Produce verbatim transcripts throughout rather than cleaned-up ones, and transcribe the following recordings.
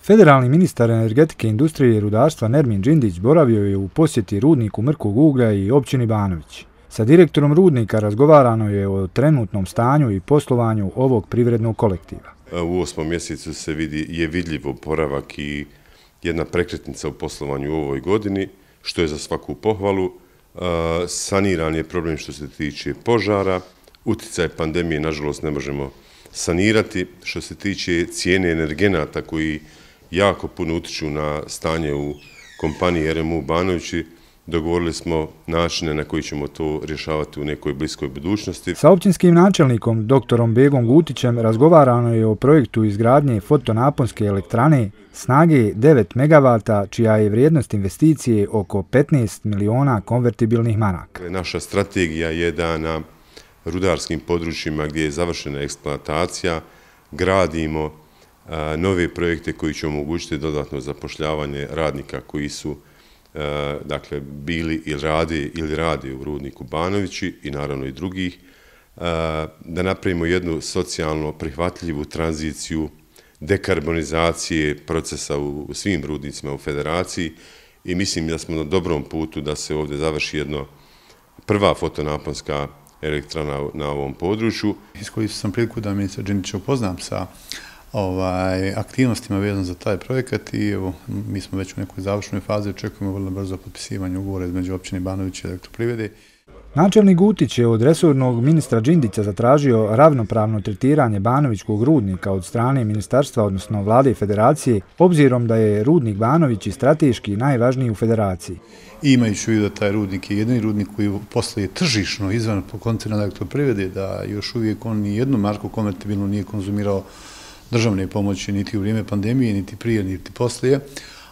Federalni ministar energetike, industrije i rudarstva Nermin Džindić boravio je u posjeti rudniku mrkog uglja i općini Banovići. Sa direktorom rudnika razgovarano je o trenutnom stanju i poslovanju ovog privrednog kolektiva. U osmom mjesecu se vidi, je vidljiv oporavak i jedna prekretnica u poslovanju u ovoj godini, što je za svaku pohvalu. Saniran je problem što se tiče požara, utjecaj pandemije nažalost ne možemo sanirati. Što se tiče cijene energenata koji jako puno utječu na stanje u kompaniji R M U Banovići, dogovorili smo načine na koji ćemo to rješavati u nekoj bliskoj budućnosti. Sa općinskim načelnikom doktorom Begom Gutićem razgovarano je o projektu izgradnje fotonaponske elektrane snage devet megavata, čija je vrijednost investicije oko petnaest miliona konvertibilnih maraka. Naša strategija je da na rudarskim područjima gdje je završena eksploatacija gradimo nove projekte koji će omogućiti dodatno zapošljavanje radnika koji su dakle bili ili radi ili radi u rudniku Banovići i naravno i drugih, da napravimo jednu socijalno prihvatljivu tranziciju dekarbonizacije procesa u svim rudnicima u federaciji i mislim da smo na dobrom putu da se ovdje završi jedno prva fotonaponska elektrana na ovom području. Iskoristio sam priliku da ministra Džindića upoznam sa Ovaj, aktivnostima vezano za taj projekat i evo, mi smo već u nekoj završnoj fazi, očekujemo vrlo brzo potpisivanje ugovora između općine Banovići i Elektroprivrede. Načelnik Gutić je od resornog ministra Džindića zatražio ravnopravno tretiranje Banovićkog rudnika od strane ministarstva, odnosno vlade federacije, obzirom da je rudnik Banovići strateški najvažniji u federaciji. I imajući u vidu da taj rudnik je jedini rudnik koji posluje tržišno izvan koncerna Elektroprivrede, da još uvijek on ni jednu marku konvertibilnu nije konzumirao državne pomoći niti u vrijeme pandemije, niti prije, niti poslije.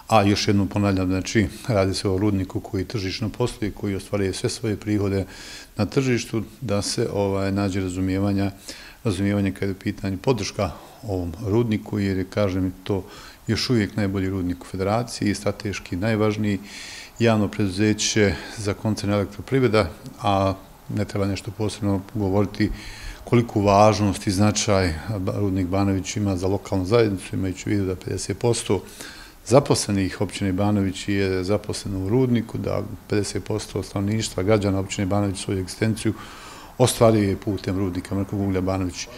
A još jednom ponavljam, znači, radi se o rudniku koji tržišno posluje, koji ostvaruje sve svoje prihode na tržištu, da se ovaj, nađe razumijevanja, razumijevanje kada je u pitanju podrška ovom rudniku, jer je, kažem, to još uvijek najbolji rudnik u federaciji i strateški najvažniji javno preduzeće za koncern Elektroprivreda, a ne treba nešto posebno govoriti koliku važnost i značaj rudnik Banović ima za lokalnu zajednicu, imajući u vidu da pedeset posto zaposlenih općine Banović je zaposleno u rudniku, da pedeset posto stanovništva građana općine Banović svoju egzistenciju ostvaruje putem rudnika mrkog uglja Banović.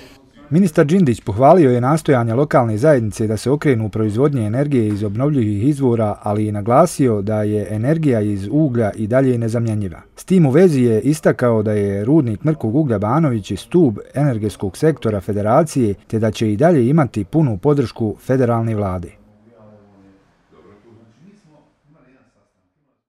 Ministar Džindić pohvalio je nastojanja lokalne zajednice da se okrenu u proizvodnje energije iz obnovljivih izvora, ali i naglasio da je energija iz uglja i dalje nezamjenjiva. S tim u vezi je istakao da je rudnik mrkog uglja Banovići stub energetskog sektora federacije, te da će i dalje imati punu podršku federalne vlade.